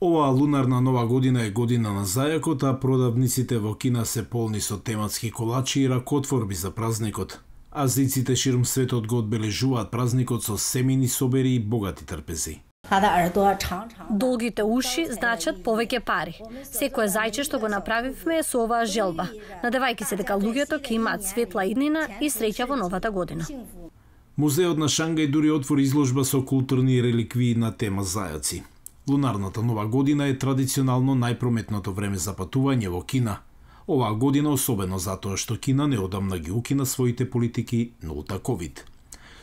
Оваа лунарна нова година е година на зајакот, а продавниците во Кина се полни со тематски колачи и ракотворби за празникот. Азиците ширум светот го одбележуваат празникот со семени собери и богати трпези. Долгите уши значат повеќе пари. Секое зајче што го направивме е со оваа желба, надевајќи се дека луѓето ќе имаат светла иднина и среќа во новата година. Музеот на Шангај дури отвори изложба со културни реликвии на тема зајаци. Лунарната нова година е традиционално најпрометното време за патување во Кина. Оваа година особено затоа што Кина неодамна ги укина своите политики нулта ковид.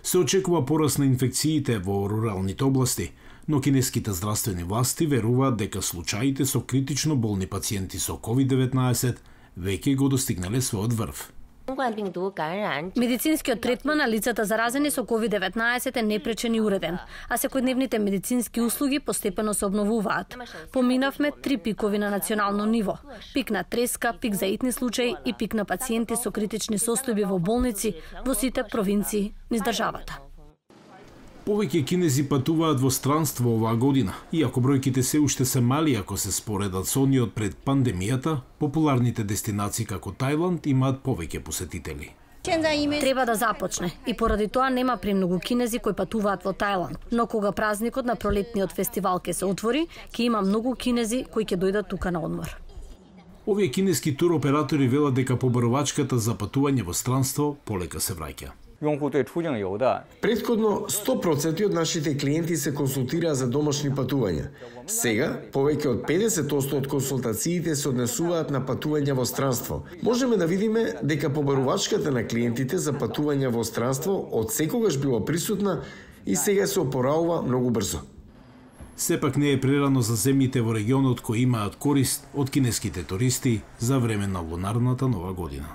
Се очекува пораст на инфекциите во руралните области, но кинеските здравствени власти веруваат дека случаите со критично болни пациенти со COVID-19 веќе го достигнале својот врв. Медицинскиот третман на лицата заразени со COVID-19 е непречен и уреден, а секојдневните медицински услуги постепено се обновуваат. Поминавме 3 пикови на национално ниво. Пик на треска, пик за итни случаи и пик на пациенти со критични состојби во болници во сите провинции низ државата. Повеќе кинези патуваат во странство оваа година, иако бројките се уште се мали ако се споредат со ониот пред пандемијата, популарните дестинации како Тајланд имаат повеќе посетители. Треба да започне и поради тоа нема премногу кинези кои патуваат во Тајланд, но кога празникот на пролетниот фестивал ќе се отвори, ќе има многу кинези кои ќе дојдат тука на одмор. Овие кинески туроператори велат дека побарувачката за патување во странство полека се враќа. Претходно 100% од нашите клиенти се консултираа за домашни патувања. Сега, повеќе од 50% од консултациите се однесуваат на патувања во странство. Можеме да видиме дека побарувачката на клиентите за патувања во странство од секогаш била присутна и сега се опораува многу брзо. Сепак не е прерано за земјите во регионот кои имаат корист од кинеските туристи за време на лунарната нова година.